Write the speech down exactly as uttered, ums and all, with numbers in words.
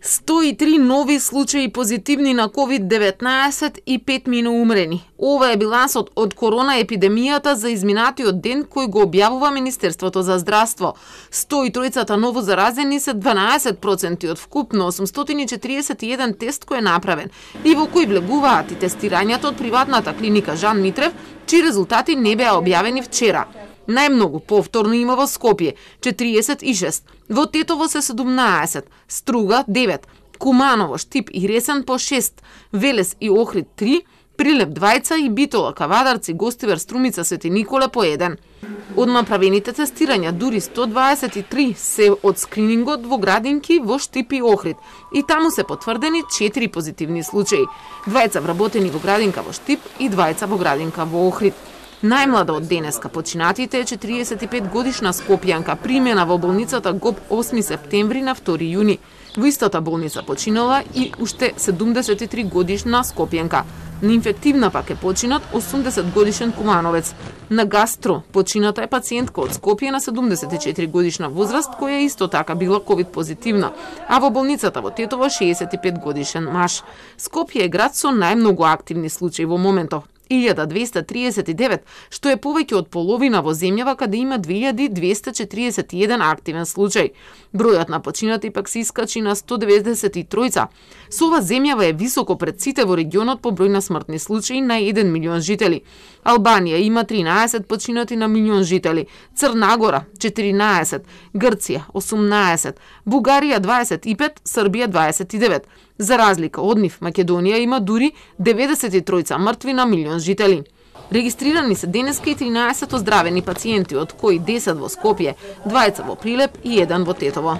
сто и три нови случаи позитивни на ковид деветнаесет и пет миноумрени. Ова е билансот од корона епидемијата за изминатиот ден кој го објавува Министерството за здравство. сто и три ново заразени се дванаесет проценти од вкупно осумстотини и четириесет и еден тест кој е направен и во кој влегуваат и тестирањата од приватната клиника Жан Митрев, чии резултати не беа објавени вчера. Најмногу повторно има во Скопје четириесет и шест, во Тетово се седумнаесет, Струга девет, Куманово, Штип и Ресен по шест, Велес и Охрид три, Прилеп двајца и Битола, Кавадарци, Гостивар, Струмица, Свети Николе по еден. Од направените тестирања дури сто дваесет и три се од скринингот во градинки во Штип и Охрид и таму се потврдени четири позитивни случаи. Двајца вработени во градинка во Штип и двајца во градинка во Охрид. Најмлада од денеска починатите е четириесет и пет годишна скопјанка, примена во болницата ГОП осми септември на втори јуни. Во истата болница починала и уште седумдесет и три годишна скопјанка. На инфективна пак е починат осумдесет годишен кумановец. На гастро почината е пациентка од Скопје на седумдесет и четири годишна возраст, која исто така била ковид позитивна, а во болницата во Тетово шеесет и пет годишен маж. Скопје е град со најмногу активни случаи во моментов. илјада двеста триесет и девет, што е повеќе од половина во земјава каде има две илјади двеста четириесет и еден активен случај. Бројот на починати пак се искачи на сто деветдесет и три. Со ова земјава е високо пред сите во регионот по број на смртни случаи на еден милион жители. Албанија има тринаесет починати на милион жители, Црна Гора четиринаесет, Грција осумнаесет, Бугарија дваесет и пет, Србија дваесет и девет. За разлика од нив, Македонија има дури деветдесет и три мртви на милион жители. Регистрирани се денеска и тринаесет оздравени пациенти, од кои десет во Скопје, двајца во Прилеп и еден во Тетово.